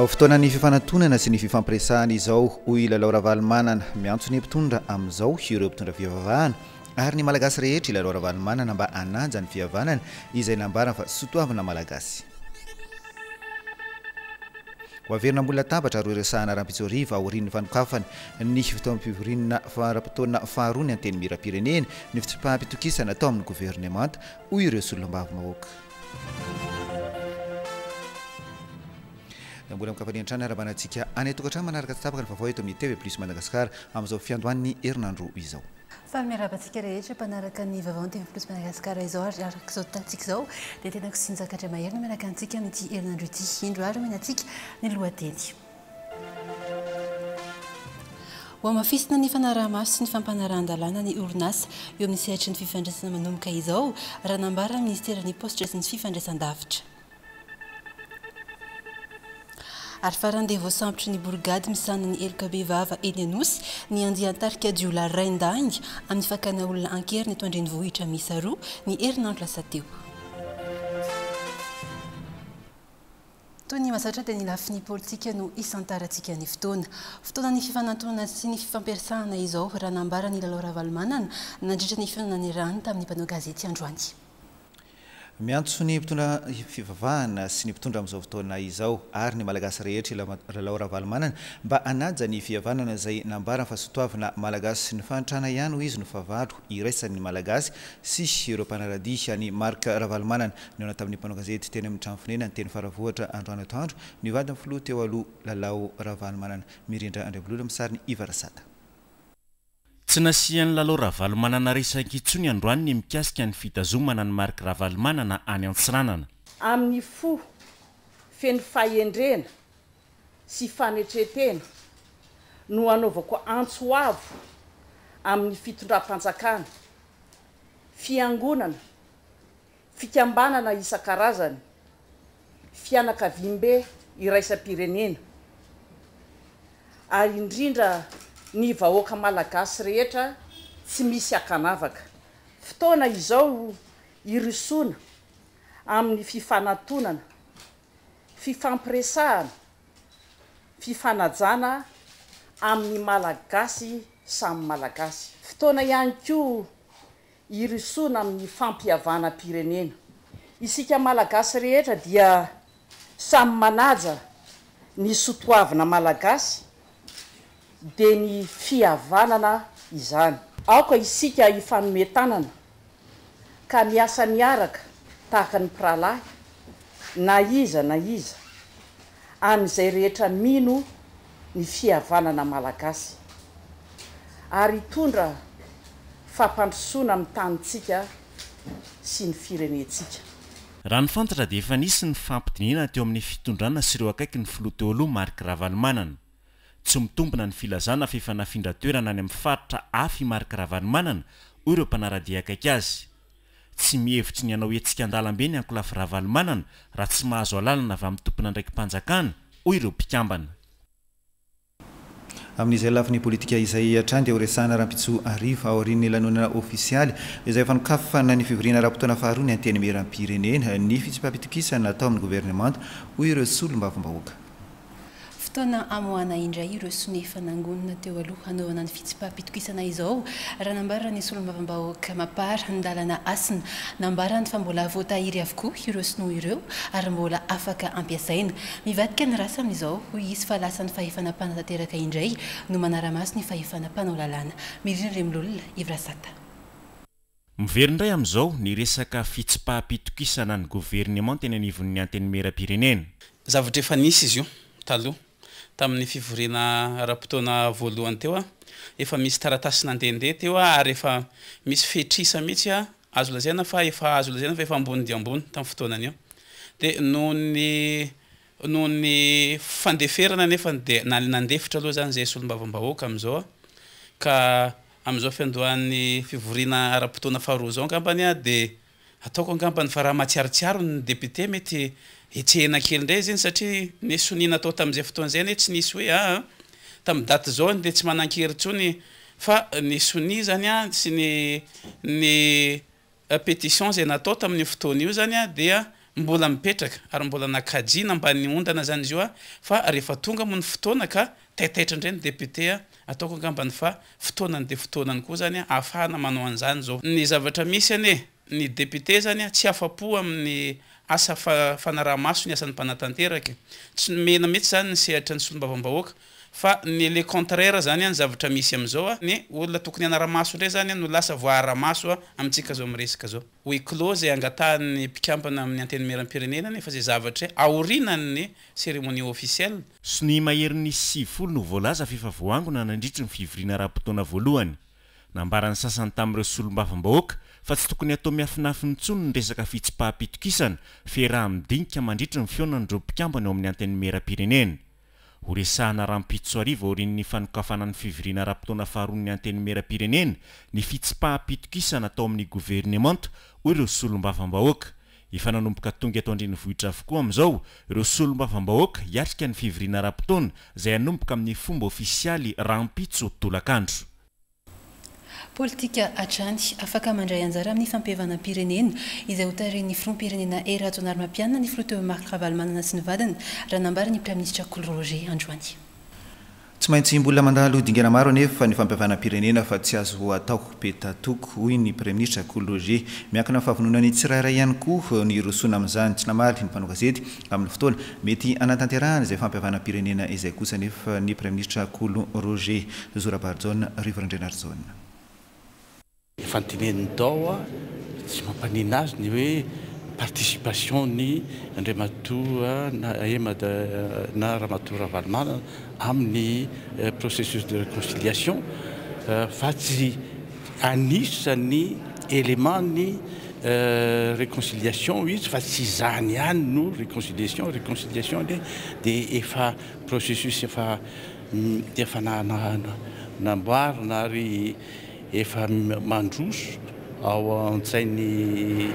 Fotoanan'ny fifanantonana sy ny fifampiresahana izao, hoy i Lalao Ravalomanana. Miantso ny mpitondra amin'izao ireo mpitondra fivavahana ary ny Malagasy rehetra i Lalao Ravalomanana mba hanaja ny fihavanana izay nambarany fa sotoavina Malagasy. Ho averina ambony latabatra ary horesahana rahampitso hariva aorian'ny fanokafana ny fotoam-pivoriana ara-potoana faharoa ny Antenimierampirenena ny fitsipaham-pitokisana atao amin'ny governemanta, hoy ireo solombavambahoaka. Mbola amin-kafalian-trano iarahabana antsika any an-tokantrano manaraka tsy tapaka ny vaovao eto amin'ny TV Plus Madagascar amin'izao fiandohan'ny herinandro izao. Faly miarahaba antsika rehetra mpanaraka ny vaovao ny TV Plus Madagascar izao ary araka izao tantsika izao dia tenako sy Njaka Andriamahery no miaraka antsika amin'ity herinandro ity. Indro ary omena antsika ny lohateny. Hohamafisina ny fanaraha-maso sy ny fampanarahan-dalàna ny orinasa eo amin'ny sehatry ny fifandraisana manomboka izao, raha nambaran'ny minisiteran'ny Paositra sy ny Fifandraisandavitra. Ary farany dia voasambotry ny borigady misahana ny heloka bevava eny Anosy ny andian-tarika jiolahy raindahiny amin'ny fakana olona an-keriny eto an-drenivohitra miisa roa ny herinandro lasa teo. Toy ny mahazatra dia ny lafiny politika no isantarantsika ny fotoana. Fotoanan'ny fifanantonana sy ny fifampiresahana izao, raha nambaran'i Lalao Ravalomanana nandritra ny fihaonana niarahany tamin'ny mpanao gazety androany. Miantso ny mpitondra fivavahana sy ny mpitondra amin'izao fotoana izao ary ny Malagasy rehetra i Lalao Ravalomanana mba hanaja ny fihavanana izay nambarany fa sotoavina Malagasy. Ny fahantrana ihany hoy izy no fahavalo iraisan'ny Malagasy sy ireo mpanara-dia an'i Marc Ravalomanana. Nihaona tamin'ny mpanao gazety teny amin'ny trano fonenany teny Faravohitra androany atoandro ny vadin'ny filoha teo aloha Lalao Ravalomanana. Mirindra Andriambololona amin'ny sarin'i Iva Rasata. Tsy nasian'i Lalao Ravalomanana resaka intsony androany ny mikasika ny fitazomana an'i Marc Ravalomanana any Antsiranana. Amin'ny fo feno fahendrena sy fanetren-tena no anaovako antso avo amin'ny fitondram-panjakana, fiangonana, fikambanana isan-karazany, fianakaviambe iraisam-pirenena ary indrindra ny vahoaka Malagasy rehetra tsy misy ankanavaka. Fotoana izao hirosoana amin'ny fifanantonana, fifampiresahana, fifanajana amin'ny Malagasy samy Malagasy. Fotoana ihany koa hirosoana amin'ny fampihavanam-pirenena. Isika Malagasy rehetra dia samy manaja ny sotoavina Malagasy dia ny fihavanana izany. Aoka isika hifanome tanana ka miasa miaraka tahaka ny mpirahalahy na iza na iza amin'izay rehetra mino ny fihavanana Malagasy ary hitondra fampandrosoana amin'ny tanintsika sy ny firenentsika. Raha ny fantatra dia efa nisy ny fampidinihana teo amin'ny fitondrana sy ireo akaiky ny filoha teo aloha Marc Ravalomanana. Tsy mitombina ny filazana fa efa nafindra toerana any amin'ny faritra hafa i Marc Ravalomanana, hoy ireo mpanara-dia akaiky azy. Tsy mihevitry ny hanao hetsika an-dalambe ny ankolafy Ravalomanana raha tsy mahazo alalana avy amin'ny tompon'andraiki-panjakana, hoy ireo mpikambana. Amin'izay lafiny politika izay hatrany dia horesahana rahampitso hariva aorian'ny lanonana ofisialy izay fanokafana ny fivoriana ara-potoana faharoa ny Antenimierampirenena ny fitsipaham-pitokisana atao amin'ny governemanta, hoy ireo solombavambahoaka. Fotoana hamoahana indray ireo sonia efa nangonina teo aloha hanaovana ny fitsipaham-pitokisana izao, raha nambaran'ny solombavambahoaka Mapar Ndalana Hasina. Nambarany fa mbola voatahiry avokoa ireo sinoa ireo ary mbola afaka ampiasaina. Mivadika ny rasa amin'izao, hoy izy, fa lasa ny fahefana mpanatanteraka indray no manara-maso ny fahefana mpanao lalàna. Mirina Andriamilolona, Yves Rasata. Miverina indray amin'izao ny resaka fitsipaham-pitokisana ny governemanta eny anivon'ny Antenimierampirenena. Zavatra efa nisy izy io taloha, tamin'ny fivoriana ara-potoana voalohany teo, efa misy taratasy nandehandeha teo ary efa misy fetr'isa mihitsy azo lazaina fa efa azo lazaina fa efa ambony dia ambony tamin'ny fotoanan'io. Dia noho ny noho ny fandeferana anefa dia nandefitra aloha izany izahay solombavambahoaka amin'izao ka. Amin'izao fiandohan'ny fivoriana ara-potoana faharoa izao angambany dia ataoko angambany fa raha mahatsiarotsiaro ny député mety hetsehina kely indray izy iny satria ny sonia natao tamin'izay fotoana izay anie tsy nisy hoe aa tamin'ny daty izao dia tsy manan-kery intsony fa ny sonia izany sy ny ny Pétition izay natao tamin'io fotoana io izany dia mbola mipetraka ary mbola nakajiana mba niondana izany izy io fa rehefa tonga moa ny fotoana ka taitaitra indray ny député ataoko angambany fa fotoanany dia fotoanany koa izany ahafahana manao an'izany izao. Ny zavatra misy anie ny député izany tsy afa-po amin'ny asa fanaraha-maso ny asan'ny mpanatanteraka e. Tsy nomena mihitsy izany ny sehatra ny solombavambahoaka Fa ny le contraire zany an zavatra misy amizao a, ny olona tokony hanaramaso ndray zany no lasa voaaramaso amintsika zao miresaka zao. Huis clos zay angatahan'ny mpikambana amin'ny antenimierampirenena nefa zay zavatra aorinan'ny cérémonie officielle. Sonia maherin'ny 90 no voalaza fa efa voaangona nandritry ny fivoriana ara-potoana voalohany. Nambaran'ny sasany tamin'ireo solombavambahoaka fa tsy tokony hatao miafinafina intsony ny resaka fitsipaham-pitokisana, fiaraha-midinika mandritry ny fihaonan'ireo mpikambana eo amin'ny antenimierampirenena. Horesahana rahampitso hariva aorian'ny fanokafana ny fivoriana ara-potoana faharoan'ny Antenimierampirenena ny fitsipaham-pitokisana atao amin'ny governemanta, hoy ireo solombavambahoaka. Efa nanomboka tonga eto an-drenivohitra avokoa amin'izao ireo solombavambahoaka hiatrika ny fivoriana ara-potoana izay hanomboka amin'ny fomba ofisialy rahampitso tolakandro. Politika hatrany. Afaka mandray anjara amin'ny fampihavanam-pirenena izay hotarihin'ny filoham-pirenena Hery Rajaonarimampianina ny filoha teo Marc Ravalomanana sy ny vadiny, raha nambaran'ny Praiminisitra Kolo Roger androany. Tsy maintsy mbola mandalo dingana maro anefa ny fampihavanam-pirenena fa tsy azo atao peta-toko, hoy ny Praiminisitra Kolo Roger. Miankina amin'ny fahavononan'ny tsirairay ihany koa ny hirosoana amin'izany. Tsy namaly ny mpanao gazety amin'ny fotoana mety hanatanterahana izay fampihavanam-pirenena izay kosa anefa ny Praiminisitra Kolo Roger. Zo Rabarijaona, Rivo Randrianarijaona. Efa notenenin'i Dao tsy mampaninona azy ny hoe participation ny Andriamatoa na Emad na Ramatoa Ravalomanana amin'ny processus de reconciliation fa tsy anisan'ny élément ny reconciliation izy fa tsy izany ihany no reconciliation, reconciliation anie dia efa processus efa efa namboarina ary efa mandroso ao an-tsain'ny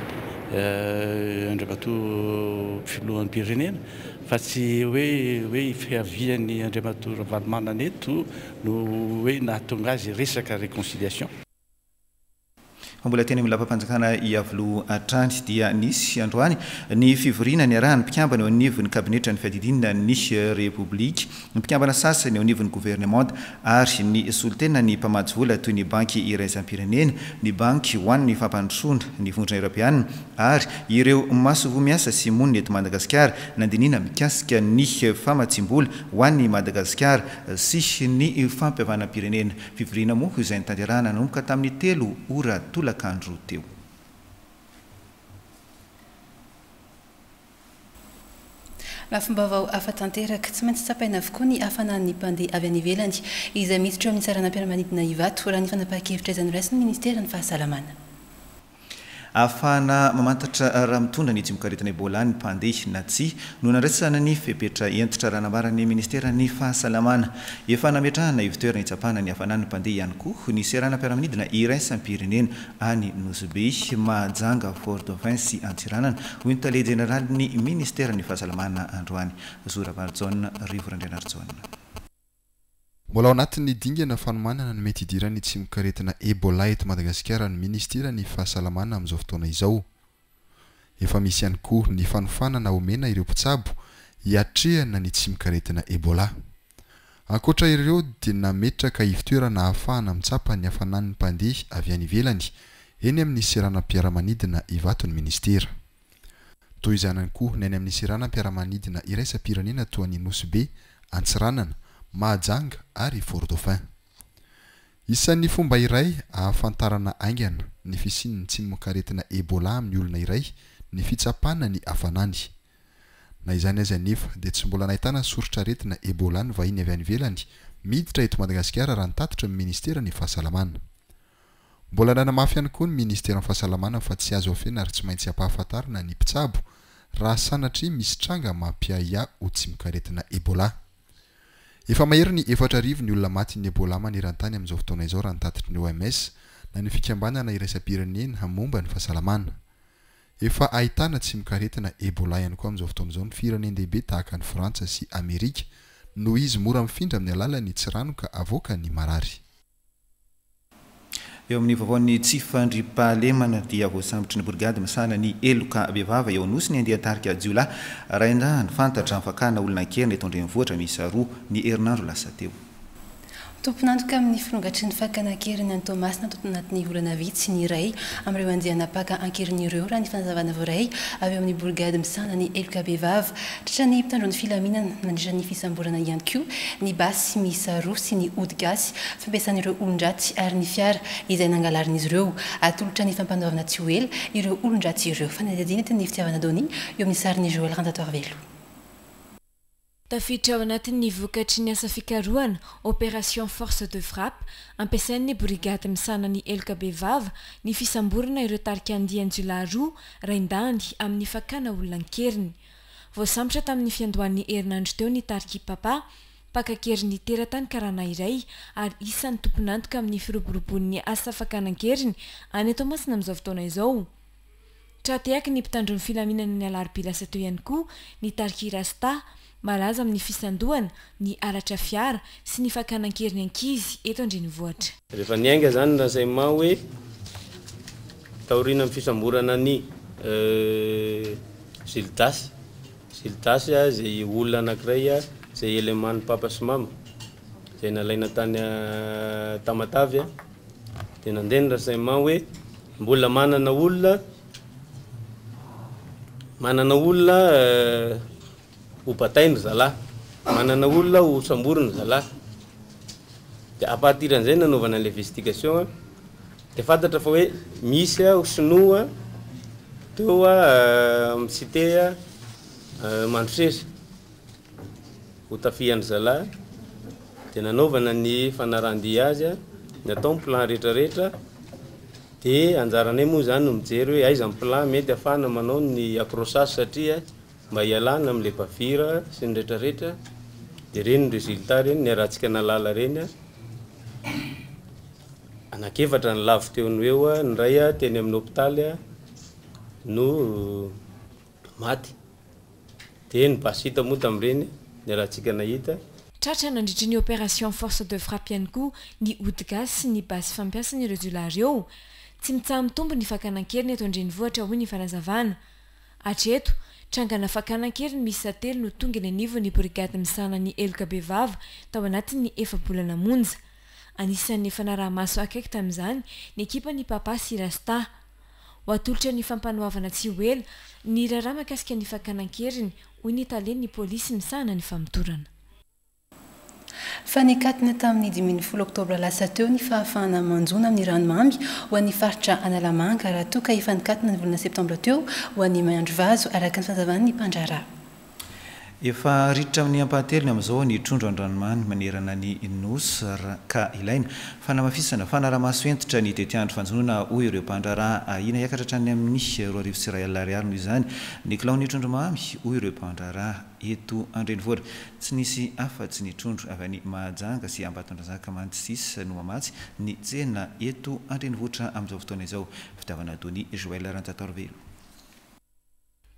Andriamatoa Filoham-pirenena fa tsy hoe hoe fiavian'ny Andriamatoa Ravalomanana eto no hoe nahatonga azy resaka réconciliation. Fa mbola teny amin'ny lapam-panjakana Iavoloha hatrany dia nisy androany ny fivoriana niarahan'ny mpikambana eo anivon'ny kabinetran'ny fiadidiana ny Repoblika, ny mpikambana sasany eo anivon'ny governemanta ary ny solontenan'ny mpamatsy vola toy ny Banky iraisam-pirenena, ny Banky ho an'ny fampandrosoana, ny Vondrona Eoropeana ary ireo masoivoho miasa sy monina eto Madagasikara nandinihina mikasika ny famatsiam-bola ho an'i Madagasikara sy ny fampihavanam-pirenena. Fivoriana moa izay notanterahana nanomboka tamin'ny telo ora tolakandro teo. Lafim-baovao hafa tanteraka. Tsy maintsy tsapaina avokoa ny hafanan'ny mpandeha avy any ivelany izay miditra eo amin'ny saranam-piaramanidina Ivato, raha ny fanapahan-kevitra izay noraisin'ny ministeran'ny fahasalamana. Ahafahana mamantatra raha mitondra ny tsimokaretina Ebola ny mpandeha na tsia no nandraisana ny fepetra hentitra raha nambaran'ny ministeran'ny fahasalamana. Efa nametrahana ivotoerana hitsapana ny hafanan'ny mpandeha ihany koa ny seranam-piaramanidina iraisam-pirenena any Nosy Be, Mahajanga, Fort Dauphin sy Antsiranana, hoy ny tale jeneralin'ny ministeran'ny fahasalamana androany, Zo Rabarijaona Rivo Randrianarijaona. Mbola ao anatin'ny dingana fanomanana ny mety hidiran'ny tsimokaretina Ebola eto Madagasikara ny minisiteran'ny fahasalamana amin'izao fotoana izao. Efa misy ihany koa ny fanofanana omena ireo mpitsabo hiatrehana ny tsimokaretina Ebola. Ankoatra ireo dia nametraka ivotoerana ahafahana mitsapa ny hafanan'ny mpandeha avy any ivelany eny amin'ny seranam-piaramanidina Ivato ny minisitera. Toy izany ihany koa ny any amin'ny seranam-piaramanidina iraisam-pirenena toa an'i Nosy Be, Antsiranana, Mahajanga ary Fort Dauphin. Isan'ny fomba iray ahafantarana haingana ny fisian'ny tsimokaretina Ebola amin'ny olona iray ny fitsapana ny hafanany. Na izany aza anefa dia tsy mbola nahitana soritr'aretina Ebola ny vahiny avy any ivelany miditra eto Madagasikara raha ny tatitry ny ministeran'ny fahasalamana. Mbola nanamafy ihany koa ny ministeran'ny fahasalamana fa tsy azo afenina ary tsy maintsy ampahafantarina ny mpitsabo raha sanatria misy tranga mampiahiahy ho tsimokaretina Ebola. Efa mahery ny 4000 ny olona matin'ny Ebola maneran-tany amin'izao fotoana izao raha ny tatitry ny OMS na ny fikambanana iraisam-pirenena momba ny fahasalamana. Efa ahitana tsimokaretina Ebola ihany koa amin'izao fotoana izao ny firenen-dehibe tahaka an'i Frantsa sy Amerika noho izy mora mifindra amin'ny alalan'ny tsiranoka avoakan'ny marary. Eo amin'ny vaovaon'ny tsy fandriampahalemana dia voasambotry ny borigady misahana ny heloka bevava eo Anosy ny andian-tarika jiolahy raindahiny fantatra amin'ny fakana olona an-keriny eto an-drenivohitra miisa roa ny herinandro lasa teo. Tompon'antoka amin'ny firongatry ny fakana an-keriny any Toamasina tato anatin'ny volana vitsy ny iray amin'ireo andiana mpaka an-keriny ireo, raha ny fanazavana voaray avy eo amin'ny borigady misahana ny heloka bevava. Tratran'ny mpitandro ny filaminana nandritra ny fisamborana ihany koa ny basy miisa roa sy ny ody gasy fampiasan'ireo olon-dratsy ary ny fiara izay nangalarin'izy ireo. Atolotra ny fampanoavana tsy ho ela ireo olon-dratsy ireo. Fanadihadiana entin'ny Fitiavana Donia eo amin'ny sarin'i Joël Ranjatoarivelo. Tafiditra ao anatin'ny vokatry ny asa fikarohana, Opération Force de Frappe, ampiasain'ny borigady misahana ny heloka bevava ny fisamborana ireo tarika andian-jiolahy roa raindahiny amin'ny fakana olona an-keriny. Voasambotra tamin'ny fiandohan'ny herinandro teo ny tarik'i Papa, mpaka an-keriny teratany karana iray ary isan'ny tompon'antoka amin'ny firoboroboan'ny asa fakana an-keriny any Toamasina amin'izao fotoana izao. Tra-tehaky ny mpitandro ny filaminana ny alarobia lasa teo ihany koa ny tarik'i Rasta, malaza amin'ny fisandohana, ny halatra fiara sy ny fakana an-keriny ankizy eto an-drenivohitra. Rehefa niainga izany ny renseignement hoe taorianan'ny fisamborana an'i Gildas, Gildas izay olona anankiray izay élément-n'ny Papa sy Mama izay nalaina tany Tamatave dia nandeha ny renseignement hoe Mbola manana olona manana olona ho batainy ry zalahy, manana olona ho samboriny ry zalahy. Dia à partir an'izay nanaovana an'ilay investigation dia fantatra fa hoe misy sinoa teo amin'ny cité Mandroseza ho tafihan-dry zalahy dia nanaovana ny fanarahan-dia azy, natao ny plan rehetra rehetra dia anjaranay moa izany no mijery hoe aiza ny plan mety ahafahana manao ny accrochage satria mba hialana amin'ilay bavure sy ny rehetra rehetra dia ireny ny résultat ireny niarahantsika nahalala ireny, anankiefatra ny lavo teo no eo, ny iray teny amin'ny hopitaly no maty. Dia ny basy hita moa tamin'ireny, niarahantsika nahita. Tratra nandritry ny opération force de frappe ihany koa ny ody gasy sy ny basy fampiasan'ireo jiolahy ireo. Tsy mitsaha-mitombo ny fakana an-keriny eto an-drenivohitra hoy ny fanazavana. Hatreto, trangana fakana an-keriny miisa telo no tonga eny anivon'ny brigady misahana ny heloka bevava tao anatin'ny efa-bolana monja. Anisan'ny efa naraha-maso akaiky tamin'izany ny ekipan'i Papa sy Rasta. Ho atolotra ny fampanoavana tsy ho ela ny raharaha mahakasika ny fakana an-keriny, hoy ny talen'ny polisy misahana ny famotorana. Fa nikatona tamin'ny 15 oktobra lasa teo ny fahafahana manjono amin'ny ranomamy ho an'ny faritra Analamanga raha toa ka efa nikatona ny volana septambra teo ho an'ny Miandrivazo, araka ny fanazavan'ny mpandraharaha. Efa ritra amin'ny ampahatelony amin'izao ny trondro an-dranomamy manerana ny Nosy ka ilaina fanamafisana fanarahamaso hentitra ny tetiandro fanjonoana hoy ireo mpandraharaha. Ahiana hiakatra hatrany amin'ny 2100 ariary noho izany ny kilaon'ny trondro mamy hoy ireo mpandraharaha eto an-drenivohitra. Tsy nisy afa-tsy ny trondro avy any Mahajanga sy Ambatondrazaka mantsy sisa no mamatsy ny tsena eto an-drenivohitra amin'izao fotoana izao. Fitiavana Donia Joël Ranjatoarivelo.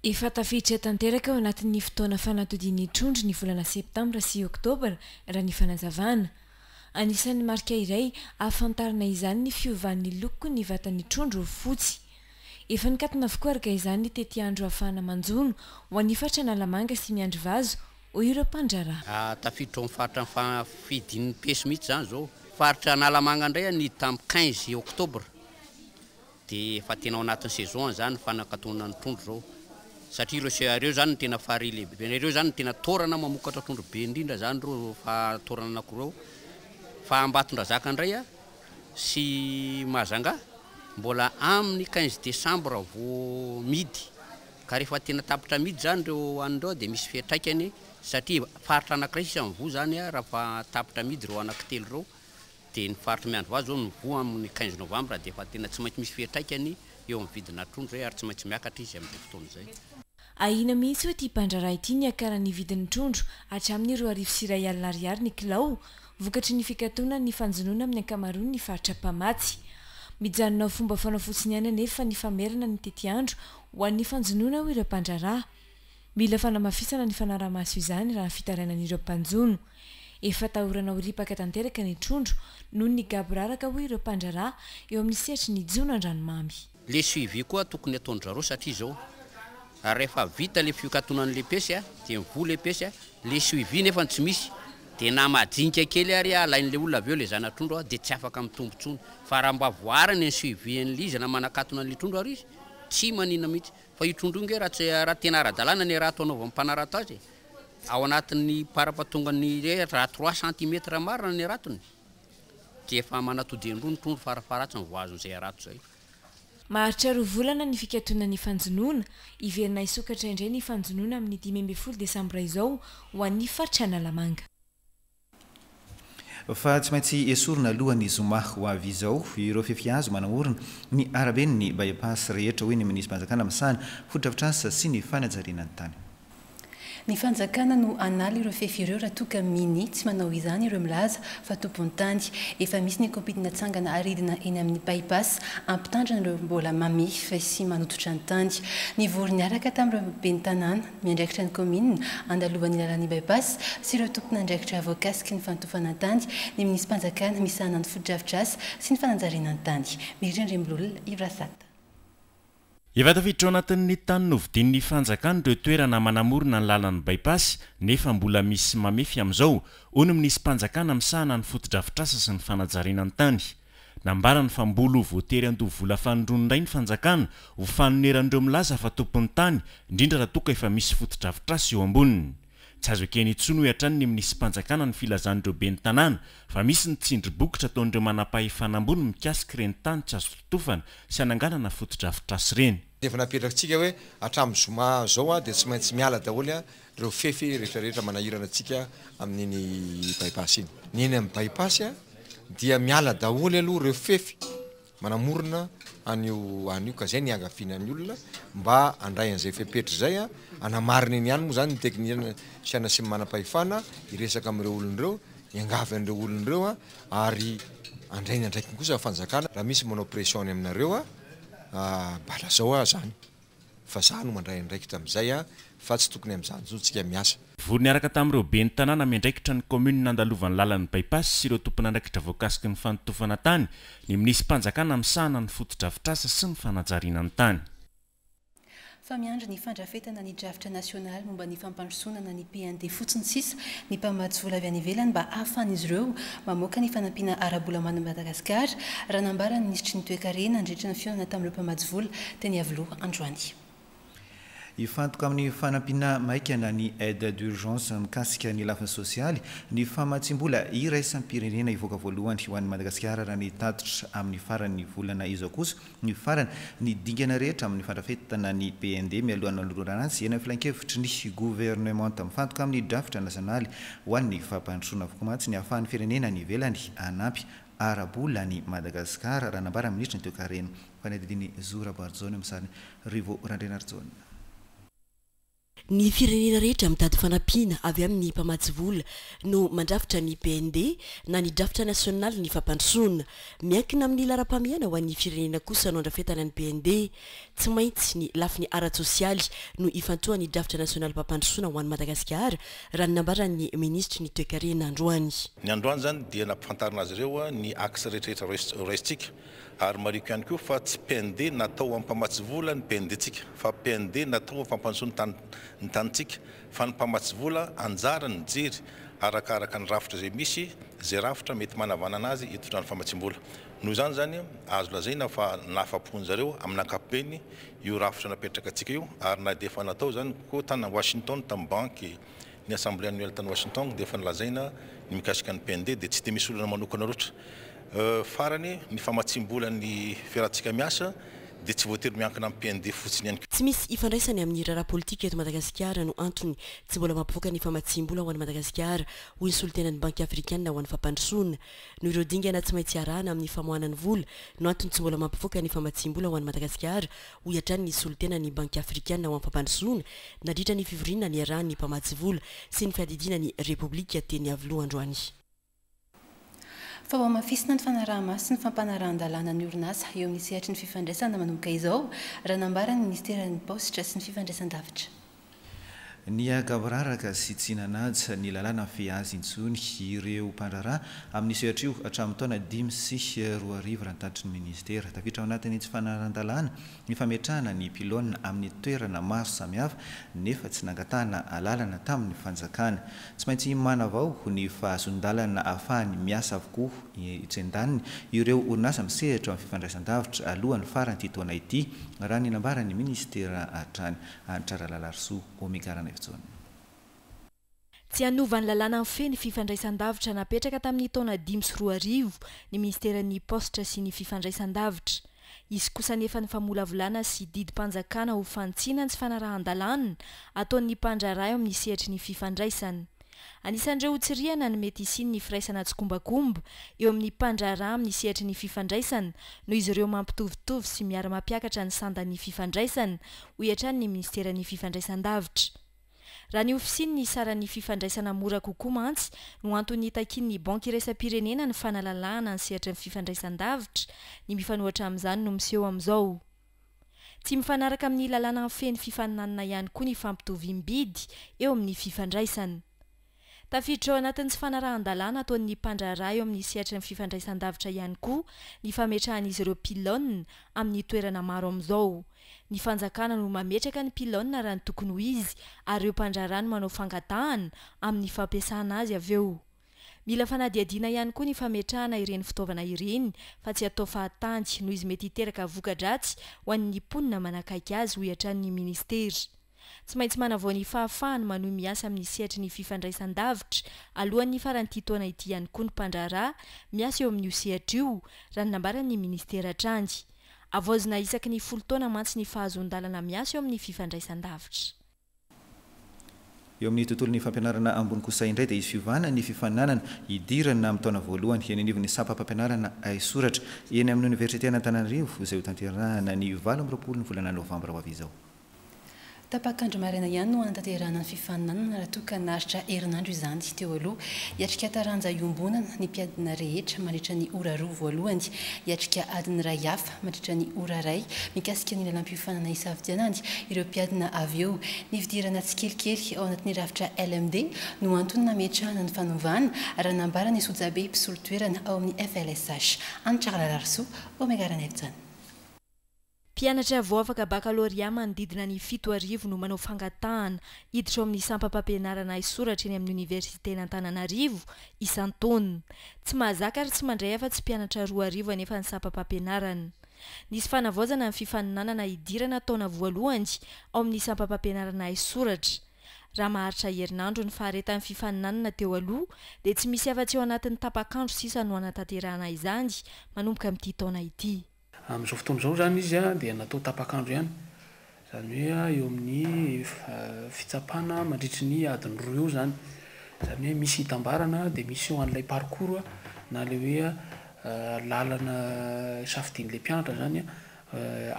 Efa tafiditra tanteraka ao anatin'ny fotoana fanatodian'ny trondro ny volana septambra sy oktobra, raha ny fanazavana. Anisan'ny marika iray ahafantarana izany ny fiovan'ny lokon'ny vatan'ny trondro ho fotsy. Efa nikatona avokoa araka izany ny tetiandro ahafahana manjono ho an'ny faritra Analamanga sy Miandrivazo, hoy ireo mpandraharaha. Tafiditra ao amin'ny faritra ny fidin'ny peso mihitsy izany izao. Faritra Analamanga indray nidy tamin'ny 15 oktobra. Dia efa tena ao anatin'ny saison izany ny fanakatonana ny trondro izao satria ireo se ireo izany no tena farihy lehibe, ireo izany no tena toerana mamokatra trondro be indrindra izany ireo fa toerana anankiroa ireo. Fa Ambatondrazaka indray a sy Mahajanga mbola amin'ny 15 décembre vao mihidy ka rehefa tena tapitra mihidy izany ireo anona ireo dia misy fiantraikany satria faritra anankiray sisa mivoa izany raha fa tapitra mihidy ireo anankitelo ireo. Dia ny faritry Miandrivazo izao no voa amin'ny 15 novambra dia efa tena tsy maintsy misy fiantraikany eo amin'ny vidina trondro izay ary tsy maintsy miakatra izy amin'izay fotoana izay. Ahiana mihitsy hoy ity mpandraharaha ity ny hiakaran'ny vidin'ny trondro hatramin'ny 2100 ariary ny kilao vokatry ny fikatonan'ny fanjonoana amin'ny ankamaroan'ny faritra mpamatsy. Mijanona ho fomba fanao fotsiny ihany anefa ny famerana ny tetiandro ho an'ny fanjonoana hoy ireo mpandraharaha. Mila fanamafisana ny fanarahamaso izany raha ny fitarainan'ireo mpanjono. Efa atahorana ho ripaka tanteraka ny trondro noho ny gaboraraka hoy ireo mpandraharaha eo amin'ny sehatry ny jono an-dranomamy. Le suivi koa tokony ataon-dry zareo satria izao rehefa vita le fikatonan'le pêche a, dia mivoha le pêche a, le suivi nefa tsy misy, dia na madinika kely ary alain'le olona avy eo le zana-trondro a, dia tsy afaka mitombo intsony. Fa raha mba voariny ny suivi an'le izy na manakatona an'le trondro ary izy, tsy maninona mihitsy. Fa io trondro io nge raha tsy raha tena ara-dalàna ny harato anaovan'ny mpanarato azy e, ao anatin'ny parapatongan'ny raha trois centimètres marina ny haratony, dia efa manatody indroa ny trondro farafaharatsiny vao azon'izay harato izay. Maharitra 2 volana ny fikatonan'ny fanjonoana. Hiverina hisokatra indray ny fanjonoana amin'ny 15 desambra izao ho an'ny faritra Analamanga. Fa tsy maintsy esorina alohan'ny zoma ho avy izao ireo fefy hazo manamorona ny araben'ny By-pass rehetra, hoy ny minisitrim-panjakana misahana fotodrafitrasa sy ny fanajariana ny tany. Ny fanjakana no hanala ireo fefy ireo raha toa ka minia tsy manao izany ireo milaza fa tompon'ny tany. Efa misy ny komity natsangana haridina eny amin'ny By-pass hampitandrina ireo mbola mamefy sy manototra ny tany. Nivory niaraka tamin'ireo ben'ny tanàna miandraikitra ny kaominina andalovan'ny lalan'ny By-pass sy ireo tompon'andraikitra voakasiky ny fanotofana tany ny minisim-panjakana misahana ny fotodrafitrasa sy ny fanajariana ny tany. Mirindra Andriambololona, Yves Rasata. Efa tafiditra ao anatin'ny tany novidian'ny fanjakana ireo toerana manamorona ny lalan'ny By-pass nefa mbola misy mamefy amin'izao, hoy ny minisim-panjakana misahana ny fotodrafitrasa sy ny fanajariana ny tany. Nambarany fa mbola ho voatery handoa vola fanindroany indray ny fanjakana ho fanoneran'ireo milaza fa tompon'ny tany, indrindra raha toa ka efa misy fotodrafitrasa eo amboniny. Tsy azo ekena intsony hoy hatrany ny minisim-panjakana ny filazan'ireo ben'ny tanàna fa misy ny tsindry bokotra ataon'ireo manampahefana ambony mikasika ireny tany tsy azo totofana sy hananganana fotodrafitrasa ireny. Efa napetrakitsika hoe hatramin'ny zoma izao dia tsy maintsy miala daholo ireo fefy rehetra rehetra manahirana antsika amin'iny by-pass iny. Ny eny amin'ny by-pass dia miala daholo aloha ireo fefy manamorona an'io an'io ka zay ny iangaviana ny olona mba handray an'izay fepetra izay a, hanamarina eny ihany moa zany ny teknisiana sy ny manam-pahefana hiresaka amin'ireo olona ireo, hiangavy an'ireo olona ireo a, ary handray ny andraikiny kosa ny fanjakana, raha misy manao pression any aminareo a, mba lazao aho zany. Fa za no mandray andraikitra amin'izay a, fa tsy tokony amin'izany intsony tsika miasa. Vory niaraka tamin'ireo ben'ny tanàna miandraikitra ny kaominina nandalovan'ny lalan'ny By-pass sy ireo tompon'andraikitra voakasiky ny fanotofana tany ny minisim-panjakana misahana ny fotodrafitrasa sy ny fanajariana ny tany. Fa miandry ny fandrafetana ny drafitra nasionaly momba ny fampandrosoana na ny PND fotsiny sisa ny mpamatsy vola avy any ivelany mba hahafahan'izy ireo mamoaka ny fanampiana ara-bola ho an'i Madagasikara, raha nambaran'ny minisitry ny Toekarena nandritra ny fihaonana tamin'ireo mpamatsy vola teny Iavoloha androany. Hifantoka amin'ny fanampiana maika na ny aide d'urgence mikasika ny lafiny sosialy ny famatsiam-bola iraisam-pirenena hivoaka voalohany ho an'i Madagasikara raha ny tatitra amin'ny faran'ny volana izao kosa ny farany ny dingana rehetra amin'ny fandrafetana ny PND mialohan'ny nanolorana azy eny amin'ny filankevitry ny governemanta. Mifantoka amin'ny drafitra nasionaly ho an'ny fampandrosoana avokoa mantsy ny ahafahan'ny firenena any ivelany hanampy ara-bola an'i Madagasikara raha nambaran'ny minisitry ny toekarena Fanadihadian'i Zo Raboarijaona eo amin'ny sarin'i Rivo Randrianarijaona. Ny firenena rehetra mitady fanampiana avy amin'ny mpamatsy vola no mandrafitra ny PND na ny drafitra nasionalin'ny fampandrosoana. Miankina amin'ny laharam-pahamehana ho an'ny firenena kosa no andrafetana ny PND. Tsy maintsy ny lafiny ara-tsosialy no ifantohan'ny drafitra nasionalim-pampandrosoana ho an'i Madagasikara, raha ny nambaran'ny minisitry ny toekarena androany. Ny androany izany dia nampifantarina azy ireo ny axe rehetrarehetra raisintsika ary marihiko ihany koa fa tsy PND natao ho mpamatsy vola ny PND-ntsika fa PND natao ho fampandrosoana ny tany ny tanintsika fa ny mpamatsy vola anjarany mijery arakaraka ny rafitra izay misy izay rafitra mety manavanana azy hitondrany famatsiam-bola. Noho izany izany azo lazaina fa nahafapo an'zareo amin'ny ankapobeny io rafitra napetraka antsika io ary na dia efa natao izany koa tany Washington tamin'ny banky ny assemblée annuelle tany Washington dia efa nolazaina ny mikasika ny PND dia tsy dia misy olana manokana loatra. Farany, ny famatsiam-bola ny fiarahantsika miasa dia tsy voatery miankina amin'ny PND fotsiny ihany koa. Tsy misy ifandraisany amin'ny raharaha politika eto Madagasikara no antony tsy mbola mampivoaka ny famatsiam-bola ho an'i Madagasikara, hoy ny solontenan'ny Banky Afrikanina ho an'ny Fampandrosoana. Noho ireo dingana tsy maintsy arahana amin'ny famoahana ny vola no antony tsy mbola mampivoaka ny famatsiam-bola ho an'i Madagasikara, hoy hatrany ny solontenan'ny Banky Afrikanina ho an'ny Fampandrosoana nandritra ny fivoriana niarahan'ny mpamatsy vola sy ny fiadidiana ny Repoblika teny Iavoloha androany. Fa ho hamafisina ny fanaraha-maso sy ny fampanarahan-dalàna ny orinasa eo amin'ny sehatry ny fifandraisana manomboka izao, raha nambaran'ny minisiteran'ny Paositra sy ny fifandraisan-davitra. Niha-gaboraraka sy tsy nanaja ny lalàna mifehy azy intsony ireo mpandraharaha amin'ny sehatra io hatramin'ny taona 2005 raha ny tatitry ny minisitera. Tafiditra ao anatin'ny tsy fanarahan-dalàna ny fametrahana ny pylône amin'ny toerana maro samihafa nefa tsy nangatahana alalana tamin'ny fanjakana. Tsy maintsy manavao ny fahazoan-dalana ahafahany miasa avokoa etsy andaniny ireo orinasa misehatra amin'ny fifandraisan-davitra alohan'ny faran'ity taona ity, raha ny nambaran'ny minisitera hatrany. Hanitra Ralalarisoa, Omega Ranaivojaona. Tsy hanova ny lalàna mifehy ny fifandraisan-davitra napetraka tamin'ny taona 2005 ny minisiteran'ny Paositra sy ny fifandraisan-davitra. Hisy kosa anefa ny famolavolana sy didim-panjakana ho fanitsiana ny tsy fanarahan-dalàna ataon'ny mpandraharaha eo amin'ny sehatry ny fifandraisana. Anisan'ireo hotsirihana ny mety hisian'ny firaisana tsikombakomba eo amin'ny mpandraharaha amin'ny sehatry ny fifandraisana noho izy ireo mampitovitovy sy miara-mampiakatra ny sandan'ny fifandraisana, hoy hatrany ny minisiteran'ny fifandraisan-davitra. Raha ny ho fisian'ny saran'ny fifandraisana mora kokoa mantsy no antony nitakian'ny Banky iraisam-pirenena ny fanalalahana ny sehatry ny fifandraisan-davitra, ny mifanohitra amin'izany no miseho amin'izao. Tsy mifanaraka amin'ny lalàna mifehy ny fifaninanana ihany koa ny fampitoviam-bidy eo amin'ny fifandraisana. Tafiditra ao anatin'ny tsy fanarahan-dalàna ataon'ny mpandraharaha eo amin'ny sehatry ny fifandraisan-davitra ihany koa ny fametrahan'izy ireo pylône amin'ny toerana maro amin'izao. Ny fanjakana no mametraka ny pylône raha ny tokony ho izy ary ireo mpandraharaha no manao fangatahana amin'ny fampiasana azy avy eo. Mila fanadihadiana ihany koa ny fametrahana ireny fitaovana ireny fa tsy atao fahatany noho izy mety hiteraka voka-dratsy ho an'ny mponina manakaiky azy, hoy hatrany ny minisitera. Tsy maintsy manavao ny fahafahany manohy miasa amin'ny sehatry ny fifandraisan-davitra alohan'ny faran'ity taona ity ihany koa ny mpandraharaha miasa eo amin'io sehatra io, raha ny nambaran'ny minisitera hatrany. Havaozina isaky ny folo taona mantsy ny fahazoan-dalana miasa eo amin'ny fifandraisan-davitra. Eo amin'ny tontolon'ny fampianarana ambony kosa indray dia hisy fiovana ny fifaninanana hidirana amin'ny taona voalohany eny anivon'ny sampam-pampianarana haisoratra eny amin'ny oniversiten'Antananarivo izay hotanterahana ny 28 ny volana novambra ho avy izao. Tapak'andro maraina ihany no hanatanterahana ny fifaninanana raha toa ka naharitra herinandro izany teo aloha. Hiatrika taranja iombonana ny mpiadina rehetra mandritra ny ora roa voalohany. Hiatrika adiny iray hafa mandritra ny ora iray mikasika ny lalam-piofanana hisafidianany ireo mpiadina avy eo. Ny fidirana tsikelikely ao anatin'ny rafitra LMD no antony nametrahana ny fanovana, raha nambaran'i Sojabe mpisolo toerana ao amin'ny FLSH. Hanitra Ralalarisoa, Omega Ranaivojaona. Mpianatra vao afaka bakalorea manodidina ny 7000 no manao fangatahana hiditra ao amin'ny sampam-pampianarana haisoratra eny amin'ny oniversiten'Antananarivo isan-taona. Tsy mahazaka ary tsy mandray afa-tsy mpianatra 2000 anefa ny sampam-pampianarana. Nisy fanavaozana ny fifaninanana hidirana taona voalohany ao amin'ny sampam-pampianarana haisoratra. Raha maharitra herinandro ny faharetan'ny fifaninanana teo aloha dia tsy misy afa-tsy ao anatin'ny tapak'andro sisa no hanatanterahana izany manomboka amin'ity taona ity. Amin'izao fotoana izao izany izy dia natao tapak'andro ihany, izany hoe eo amin'ny fitsapana mandritry ny adiny roa eo izany. Izany hoe misy hitambarana dia misy eo an'ilay parcours na ilay hoe lalana safidian'ilay mpianatra izany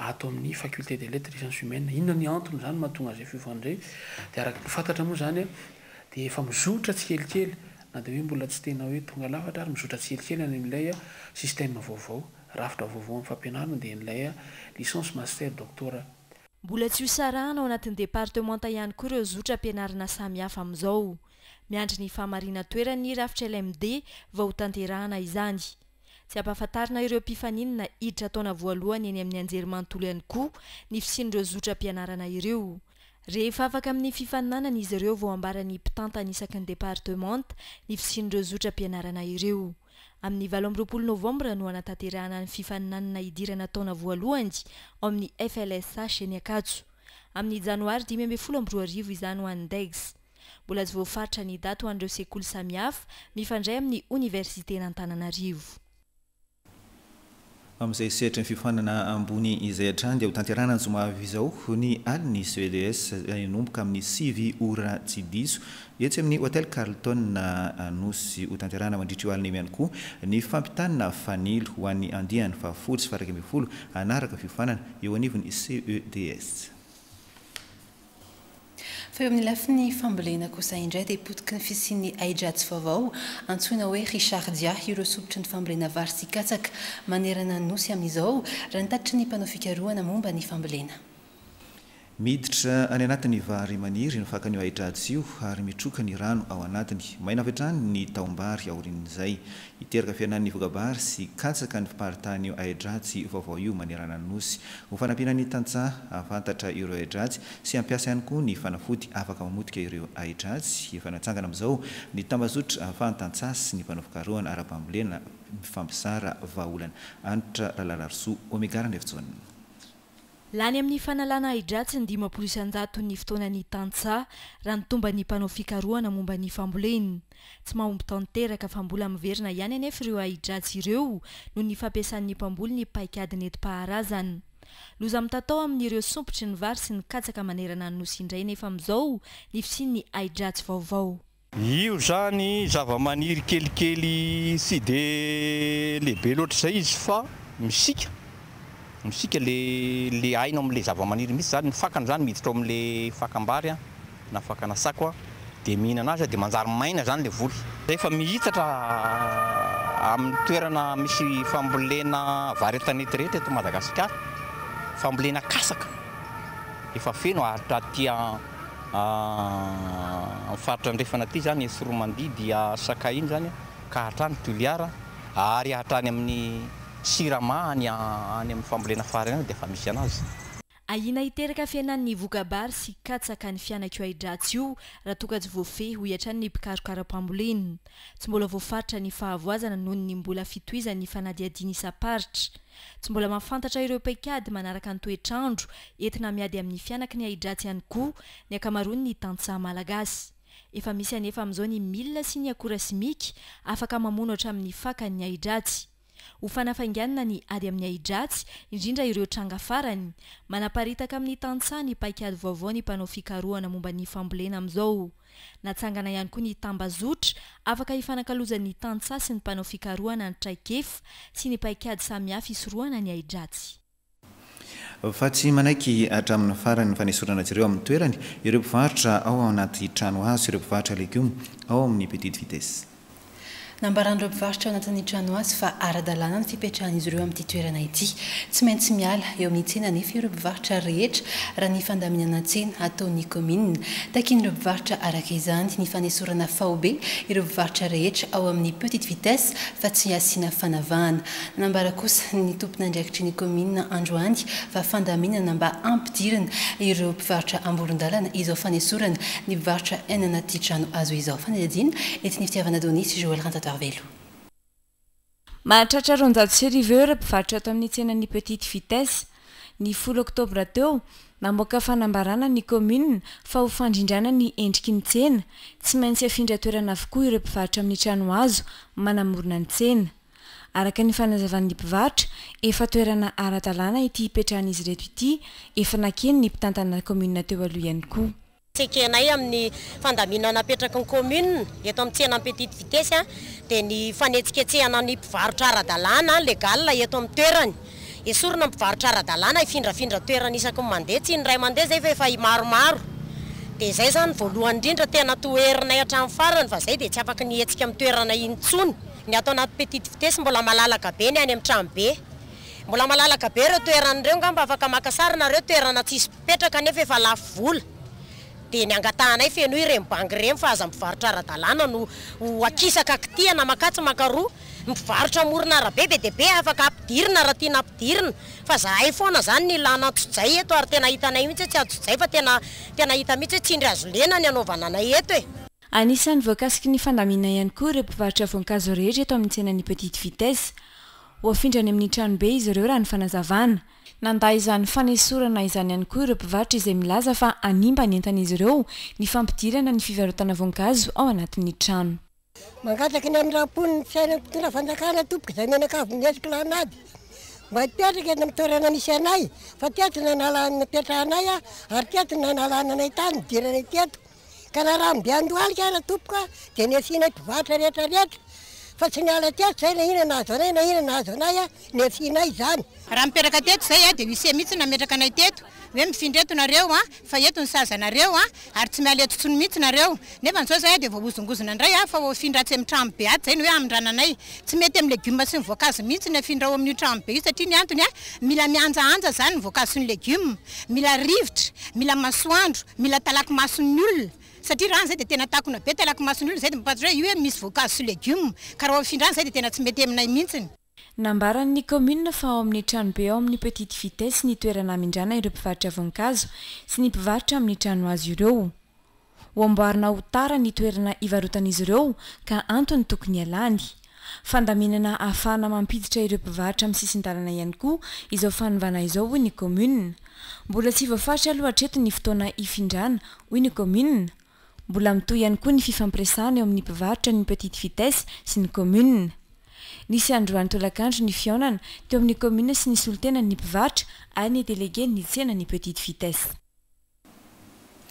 ato amin'ny faculté des lettres et sciences humaines. Inona ny antony izany mahatonga an'izay fiovana izay? Dia araka ny fantatra moa izany dia efa mizotra tsikelikely na dia hoe mbola tsy tena hoe tonga lafatra ary mizotra tsikelikely any amin'ilay système vaovao. Rafitra vaovao amin'ny fampianarana dia ilay licence, master, doctorat. Mbola tsy ho sarahana ao anatin'ny departemanta ihany koa ireo zotra ampianarina samihafa amin'izao. Miandry ny fahamarinan-toeran'ny rafitra LMD vao hotanterahana izany. Tsy ampahafantarina ireo mpifaninana hiditra taona voalohany eny amin'ny anjerimanontolo ihany koa ny fisian'ireo zotra ampianarana ireo. Rehefa afaka amin'ny fifaninanana izy ireo vao ambaran'ny mpitantana isaky ny departemanta ny fisian'ireo zotra ampianarana ireo. Amin'ny 28 novambra no hanatanterahana ny fifaninanana hidirana taona voalohany ao amin'ny FLSH eny Ankatso. Amin'ny janoary 2015 izany ho an'ny Degs. Mbola tsy voafaritra ny daty ho an'ireo sekoly samihafa mifandray amin'ny oniversiten'Antananarivo. Amin'izay sehatry ny fiofanana ambony izay hatrany dia hotanterahina ny zoma avy izao ny alin'ny CEDS hanomboka amin'ny 9 ora tsy diso etsy amin'ny Hotel Carlton Anosy. Hotanterahina mandritra io alina io ihany koa ny fampitana fanilo ho an'ny andiany fahafolo sy faha-11 hanaraka fiofanana eo anivon'ny CEDS. Fa eo amin'ny lafiny fambolena kosa indray dia potiky ny fisian'ny ahidratsy vaovao antsoina hoe Richardia ireo sompitry ny fambolena vary sy katsaka manerana ny Nosy amin'izao, raha ny tatitry ny mpanao fikarohana momba ny fambolena. Miditra any anatin'ny vary maniry ny fakan'io ahidratsy io ary mitroka ny rano ao anatiny. Maina avy hatrany ny tahom-bary aorian'izay. Hiteraka fihenan'ny voka-bary sy katsaka ny fiparitahan'io ahidratsy vaovao io manerana ny Nosy. Ho fanampiana ny tantsaha hahafantatra ireo ahidratsy sy hampiasa ihany koa ny fanafody afaka mamotika ireo ahidratsy, efa natsangana amin'izao ny tambazotra ahafahan'ny tantsaha sy ny mpanao fikarohana ara-pambolena mifampizara vahaolana. Hanitra Ralalarisoa Omega Randriafijaona. Lany amin'ny fanalana ahidratsy ny 50 isan-jaton'ny fotoanan'ny tantsaha, raha ny tomban'ny mpanao fikarohana momba ny fambolena. Tsy mahomby tanteraka fa mbola miverina ihany anefa ireo ahidratsy ireo noho ny fampiasan'ny mpamboly ny paikady nentim-paharazana. Loza mitatao amin'ireo sompitry ny vary sy ny katsaka manerana ny Nosy indray nefa amin'izao ny fisian'ny ahidratsy vaovao. Io izany zavamaniry kelikely tsy dia lehibe loatra izay izy fa misiaka, misiaka le le aina ao amin'ilay zavamaniry mihitsy izany, ny fakany izany miditra ao amin'ilay fakam-bary na fakana sako dia mihinana azy dia manjary maina izany ilay voly. Rehefa mihitatra amin'ny toerana misy fambolena vary an-tanety rehetra eto Madagasikara, fambolena kasaka efa feno ary aty amin'ny faritra andrefana aty izany Tsiroamandidy, Sakay iny izany ka hatrany Toliara ary hatrany amin'ny Sirama any amin'ny fambolena fary any dia efa misy anazy. Ahiana hiteraka fihenan'ny voka-bary sy katsaka ny fianak'io ahi-dratsy io raha toa ka tsy voafehy, hoy hatrany ny mpikaroka ara-pambolena. Tsy mbola voafaritra ny fahavoazana noho ny mbola fitohizan'ny fanadihadiana isam-paritra. Tsy mbola mahafantatra ireo paikady manaraka ny toetr'andro entina miady amin'ny fianaky ny ahi-dratsy ihany koa ny ankamaroan'ny tantsaha malagasy. Efa misy anefa amin'izao ny milina sy ny akora simika afaka mamono hatramin'ny fakan'ny ahi-dratsy. Ho fanafainganana ny ady amin'ny ahidratsy, indrindra ireo tranga farany, manaparitaka amin'ny tantsaha ny paikady vaovao ny mpanao fikarohana momba ny fambolena amin'izao. Natsangana ihany koa ny tambazotra afaka hifanakalozan'ny tantsaha sy ny mpanao fikarohana ny traikefa sy ny paikady samihafa hisorohana ny ahidratsy. Fa tsy manaiky hatramin'ny farany ny fanesorana azy ireo amin'ny toerany ireo mpivarotra ao anaty trano hazo sy ireo mpivarotra legioma ao amin'ny Petite Vitesse. Nambaran'ireo mpivarotra ao anatin'ny trano hazo fa ara-dalàna ny fipetrahan'izy ireo amin'ity toerana ity. Tsy maintsy miala eo amin'ny tsena anefa ireo mpivarotra rehetra raha ny fandaminana tsena ataon'ny kaominina. Takian'ireo mpivarotra araka izany ny fanesorana faobe ireo mpivarotra rehetra ao amin'ny Petite Vitesse fa tsy asiana fanavahana. Nanambara kosa ny tompon'andraikitry ny kaominina androany fa fandaminana mba hampidirana ireo mpivarotra amoron-dalana izao fanesorana ny mpivarotra any anaty trano hazo izao. Fanadihadiana entin'i Fitiavana Donia sy Joël Ranjatoarivelo. Mahatratra 1200 eo ireo mpivarotra ato amin'ny tsenan'ny Petite Vitesse. Ny folo oktobra teo, namoaka fanambarana ny kaominina fa ho fandrindrana ny endriky ny tsena, tsy maintsy afindra toerana avokoa ireo mpivarotra amin'ny trano hazo manamorona ny tsena. Araka ny fanazavan'ny mpivarotra, efa toerana ara-dalàna ity hipetrahan'izy ireto ity, efa nakeny ny mpitantana kaominina teo aloha ihany koa. Tsy ekenay amin'ny fandaminana apetraky ny commune eto amin'ny tsenan'ny petite vitesse dia ny fanetsiketsehana ny mpivarotra ara-dalàna, légal, eto amin'ny toerany. Esorina ny mpivarotra ara-dalàna hifindrafindra toerana isaky ny mandeha, tsy indray mandeha izay fa efa maromaro. Dia izay izany voalohany indrindra tena toherinay hatramin'ny farany fa izay dia tsy afaky ny hihetsika amin'ny toerana intsony. Ny ato anaty petite vitesse mbola malalaka be ny any amin'ny tranobe. Mbola malalaka be ireo toerana ireo ngamba afaka maka sary nareo toerana tsisy mpipetraka nefa efa lafo vola. Dia ny angatahanay fenoy ireny banky ireny fa aza mpivarotra ara-dalàna no ho akisaka kitihana makatsy makaroa. Ny mpivarotra amoron'arabe be dia be afaka ampidirina raha tiana ampidirina fa zahay foana zany ny ilana antsojay eto ary tena hitanay mihitsy hoe tsy antsojay fa tena tena hita mihitsy hoe tsindry hazo lena ny anaovana anay eto e. Anisan'ny voakasiky ny fandaminana ihany koa ireo mpivarotra voankazo rehetra eto amin'ny tsenan'ny Petite Vitesse. Ho afindra any amin'ny tranobe izy ireo raha ny fanazavana. Nandà izany fanesorana izany ihany koa ireo mpivarotra izay milaza fa hanimba ny entan'izy ireo ny fampidirana ny fivarotana voankazo ao anatin'ny trano. Mangataka ny hamindram-po ny fiainan'ny mpitondra fanjakana tompoko izay mianakavy mihetsiky lanady. Mba hipetraka eto amin'ny toerana misy anay fa teto no nanala nipetrahanay ary teto no nanalana anay tany nidiranay teto. Ka na rano be andohalika ara tompoko a dia niafianay mpivarotra rehetra rehetra fa tsy niala teto zay na inona nahazo anay na inona nahazo anay a niafianay izany. Raha mipetraka teto zay a dia huissier mihitsy nametraka anay teto hoe mifindra eto nareo a fa eto ny sazy anareo a ary tsy miala eto intsony mihitsy nareo nefa zao zay a dia voahozongozona indray a fa ho afindra atsy amin'ny trano be atsy zay ny hoe hamindrana anay. Tsy mety amin'ny legioma sy ny voankazo mihitsy ny afindra ao amin'io trano be io satria ny antony a mila mihanjahanja zany ny voankazo sy ny legioma, mila rivotra, mila masoandro, mila talaky mason'ny olona satria raha any zay dia tena takona be talaky mason'ny olona zay dia mampahatra hoe io hoe misy voankazo sy legioma ka raha afindra any zay dia tena tsy mety aminay mihitsiny. Nambaran'ny kaominina fa ao amin'ny tranobe ao amin'ny Petite Vitesse ny toerana hamindrana ireo mpivarotra voankazo sy ny mpivarotra amin'ny tranohazo ireo. Ho amboarina ho tara ny toerana hivarotan'izy ireo ka antony tokony hialany. Fandaminana ahafahana mampiditra ireo mpivarotra amin'ny sisin-dalana ihany koa izao fanovana izao hoy ny kaominina. Mbola tsy voafaritra aloha hatreto ny fotoana hifindrana hoy ny kaominina. Mbola mitohy ihany koa ny fifampiresahana eo amin'ny mpivarotra ny Petite Vitesse sy ny kaominina. Nisy androany tolakandro ny fihaonana teo amin'ny kaominina sy ny solontenan'ny mpivarotra ary ny delegen'ny tsenan'ny Petite Vitesse.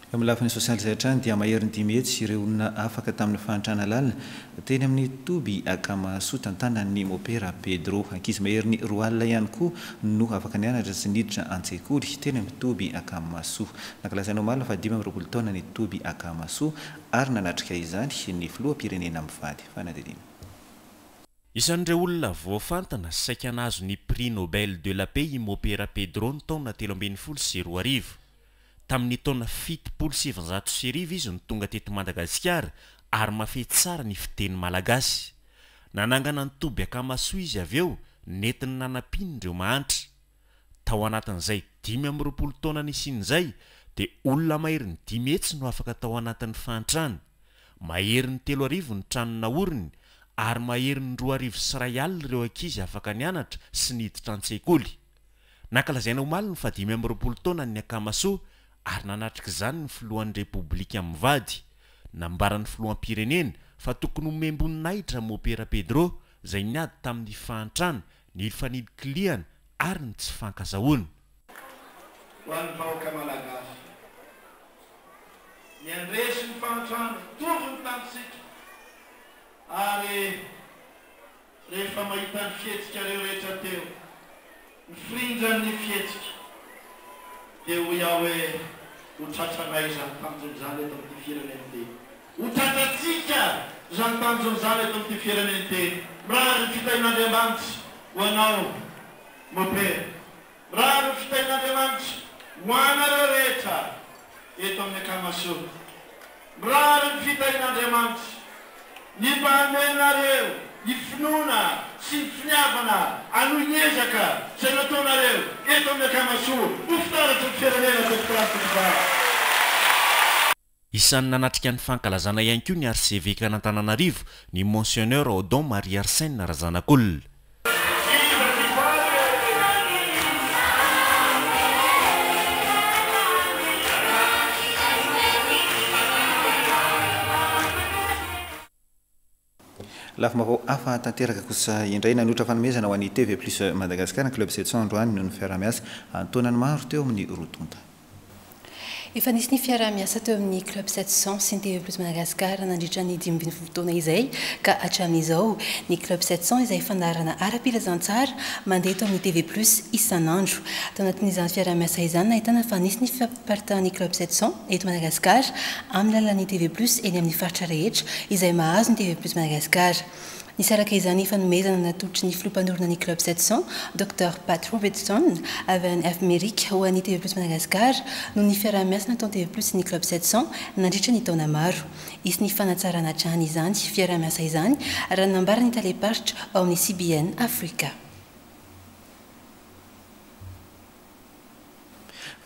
Eo amin'ny lafiny sosialy izay hatrany dia maherin'ny 500 ireo olona afaka tamin'ny fahantrana lalina teny amin'ny toby Akamasoa tantanan'ny Mopera Pedro. Ankizy maherin'ny 20 ihany koa no afaka nianatra sy niditra an-tsekoly teny amin'ny toby Akamasoa. Nankalazaina omaly ny faha 25 taona ny toby Akamasoa ary nanatrika izany ny filoham-pirenena mivady. Fanadihadiana. Isan'ireo olona voafantana sy saika nahazo ny Prix Nobel de la Paix i Mopera Pedro ny taona 2013. Tamin'ny taona 1970 izy no tonga teto Madagasikara ary mahafehy tsara ny fiteny malagasy. Nanangana ny toby Akamasoa izy avy eo nentiny nanampiany ireo mahantra. Tao anatin'izay 25 taona nisiany izay dia olona maherin'ny 500 no afaka tao anatin'ny fahantrana. Maherin'ny 3000 ny trano naoriny ary maherin'ny 2100 ireo ankizy afaka nianatra sy niditra an-tsekoly. Nankalazaina omaly ny faha 25 taonan'ny Akamasoa ary nanatrika izany ny filohan'ny Repoblika mivady. Nambaran'ny filoham-pirenena fa tokony homem-boninahitra Mopera Pedro izay niady tamin'ny fahantrana, ny fanilikilihana ary ny tsy fankazahoana. Ho an'ny vahoaka Malagasy, ny handresy ny fahantrana, hitovy ny tanjontsika ary Rehefa mahita ny fihetsikareo rehetra teo, ny firindran'ny fihetsika, dia hoy aho hoe ho tratranay izany tanjona izany eto amin'ity firenena ity. Ho tratrantsika izany tanjona izany eto amin'ity firenena ity. Mirary ny fitahian'Andriamanitra ho anao, Mopera. Mirary ny fitahian'Andriamanitra ho anareo rehetra eto amin'ny Akamasoa. Mirary ny fitahian'Andriamanitra ny mba hamenareo ny finoana sy ny finiavana hanohy ny ezaka izay nataonareo eto amin'ny Akamasoa ho fitaratry ny firenena tompokolahy sy tompokovavy. Isan'ny nanatrika ny fankalazana ihany koa ny Arsevekan'Antananarivo, ny Monseigneur Odon Marie Arsène Razanakolona. Lafim-baovao hafa tanteraka kosa indray, nanolotra fanomezana ho an'ny TV Plus Madagascar ny Club 700 androany noho ny fiaraha-miasa an-taonany maro teo amin'ny roa tonta. Efa nisy ny fiaraha-miasa teo amin'ny Club 700 sy ny TV Plus Madagascar nandritra ny 15 taona izay ka hatramin'izao. Ny Club 700 izay fandaharana ara-pilazantsara mandeha eto amin'ny TV Plus isan'andro. Tao anatin'izany fiaraha-miasa izany nahitana fa nisy ny fifampitahan'ny Club 700 eto Madagasikara amin'ny alalan'ny TV Plus eny amin'ny faritra rehetra izay mahazo ny TV Plus Madagascar. Nisy araka izany fanomezana natolotry ny filoha mpanorina ny Club 700, Docteur Pat Robertson, avy any Amerika ho an'ny TV Plus Madagascar noho ny fiaraha-miasa nataon'ny TV Plus sy ny Club 700 nandritra ny taona maro. Hisy ny fanatsarana hatrany izany fiaraha-miasa izany raha ny nambaran'ny talem-paritra ao amin'ny CBN Africa.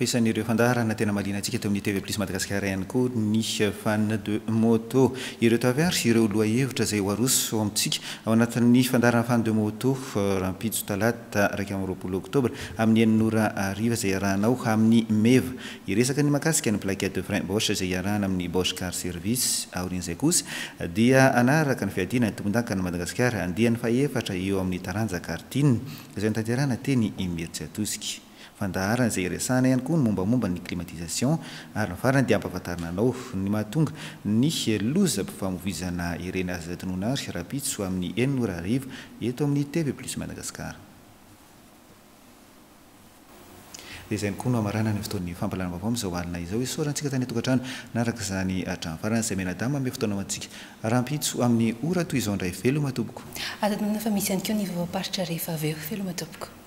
Fa isan'ireo fandaharana tena mahaliana antsika eto amin'ny TV Plus Madagasikara ihany koa ny Fan de Moto. Ireto avy ary ireo lohahevitra izay ho aroso amintsika ao anatin'ny fandaharana Fan de Moto rahampitso talata 21 oktobra amin'ny enina ora hariva izay iarahanao amin'ny Meva. Hiresaka ny mahakasika ny plaquette de frein Bosch izay iarahana amin'ny Bosch Car Service. Aorian'izay kosa dia hanaraka ny fiadiana ny tompondakan'i Madagasikara andiany fahefatra eo amin'ny taranja karting izay notanterahina teny Imerintsiatosika. Fandaharana izay iresahana ihany koa ny mombamomba ny climatisation ary ny farany dia ampahafantarina anao ny mahatonga ny lozam-pifamoivoizana ireny aza tonona ary rahampitso amin'ny enina ora hariva eto amin'ny TV Plus Madagascar. Dia izay ihany koa no hamaranana ny fotoan'ny fampahalalam-baovao amin'izao alina izao. Isaorantsika tany an-tokantrano naraka izany hatramin'ny farany izay mianadahy manome fotoana ho antsika rahampitso amin'ny ora toy izao indray. Veloma tompoko. Aza adinoina fa misy ihany koa ny vaovaom-paritra rehefa avy eo. Veloma tompoko.